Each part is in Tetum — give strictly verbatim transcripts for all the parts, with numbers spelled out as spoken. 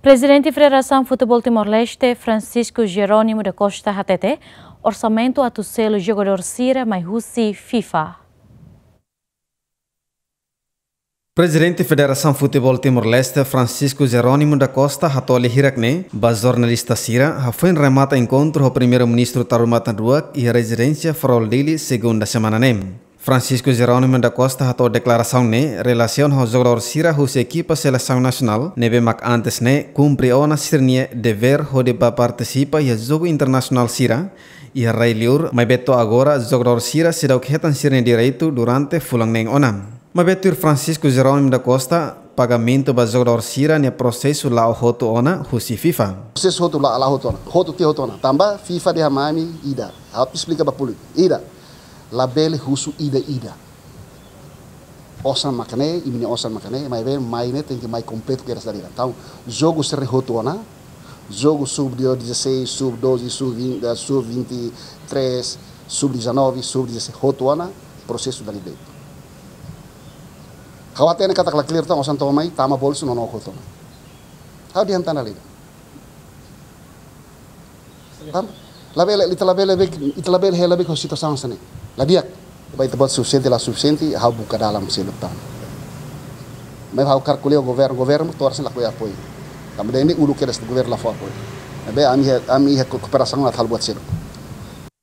Prezidente Federasaun Futeból Timor-Leste, Francisco Jerónimo da Costa hatete, orsamentu atu selu jogadór sira mai husi FIFA. Prezidente Federasaun Futeból Timor-Leste, Francisco Jerónimo da Costa, hato'o lia hirak-ne'e ba jornalista sira hafoin remata enkontru ho Primeiru-Ministru Tarumatan Ruak iha rezidénsia Farol Dili, segunda semana ne'e. Francisco Jerónimo da Costa hato'o deklarasaun ne'e relasiona ho jogadór sira husi ekipa selesaun nasionál ne'ebé mak antes ne'e kumpre ona sira-nia devér hodi bá partisipa iha jogu internasionál sira iha rai-li'ur, maibé to'o agora jogadór sira seidauk hetan sira-nia direitu durante fulan neen ona. Maibé tuir Francisco Jerónimo da Costa, pagamentu ba jogadór sira-nia prosesu la'o hotu ona husi FIFA. Prosesu hotu la, la'o hotu ona. Hotu tiha hotu ona. Tanba FIFA dehan mai ami ida. Ha'u atu esplika ba públiku. Ida. Labele husu ida-ida. Osan mak ne'e, imi-nia osan mak ne'e, maibé mai ne'e tenke mai kompletu kedas dala ida. Entaun, jogu sira hotu ona, jogu sub dezasseis, sub doze, sub vinte, eh, sub vinte e três, sub dezanove, sub dezasseis, hotu ona, prosesu dala ida. Ha'u hatene katak la clear tan, osan to'o mai, tama bolsu no no hotu ona. Ha'u dehan tan dala ida. Tanba labele, ita labele be, ita labele hela be ho situasaun hanesan ne'e. La di'ak. Ba ita buat sufisiente, la sufisiente, ha'u buka dalan seluk tan. Maibé ha'u kalkula governu, governu to'o agora sei lakohi apoiu. Tanba dehan ne'e uluk kedas governu la fó apoiu. Maibé ami iha, ami iha ko-, kooperasaun atu halo buat seluk.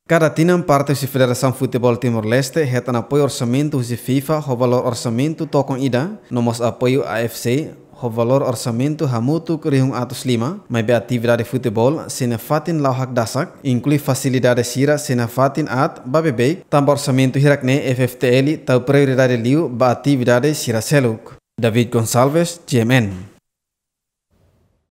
Kada tinan parte husi Federasaun Futeból Timor-Leste hetan apoiu orsamentu husi FIFA ho valór orsamentu tokon ida, no mós apoiu A F C ho valór orsamentu hamutuk rihun atus lima, maibé atividade futeból sei nafatin la'o hakdasak, inklui fasilidade sira sei nafatin aat ba beibeik, tanba orsamentu hirak-ne'e F F T L tau prioridade liu ba atividade sira seluk. David Gonçalves, G M N.